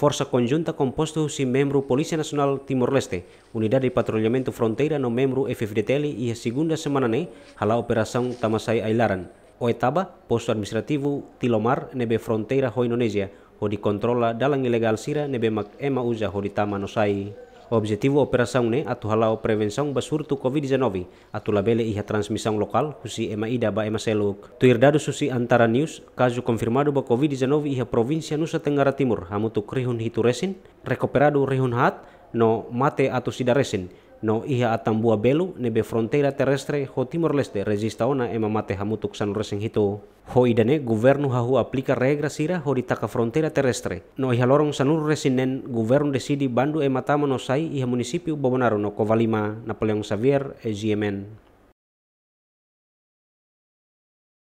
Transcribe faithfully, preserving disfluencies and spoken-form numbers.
Forsa konjunta kompostu husi membru Polísia Nasionál Timor-Leste, Unidade Patrullamentu Fronteira no membru F-FDTL iha segunda semana ne'e hala'o operasaun tama-sai ai-laran, Oetaba, postu administrativu Tilomar ne'ebé fronteira ho Indonézia, hodi kontrola dalan ilegál sira ne'ebé mak ema uza hodi tama no sai. Objetivu operasaun ne'e atu hala'o prevensaun ba surtu COVID-19, atu labele iha transmisaun lokál husi ema ida ba ema seluk. Tuir dadus husi Antara News, kazu konfirmadu ba COVID-19 iha provínsia Nusa Tenggara Timur hamutuk rihun hitu resin, rekuperadu rihun haat, no mate atus ida resin, no iha Atambua Belo ne'ebé fronteira terrestre ho Timor-Leste rejista ona ema mate hamutuk sanulu-resin-hitu. Ho ida-ne'e governu hahú aplika regra sira hodi taka fronteira terrestre. No iha loron sanulu-resin-neen governu deside bandu ema tama no sai iha munisípiu Bobonaro no Covalima. Napoleão Xavier, GMN.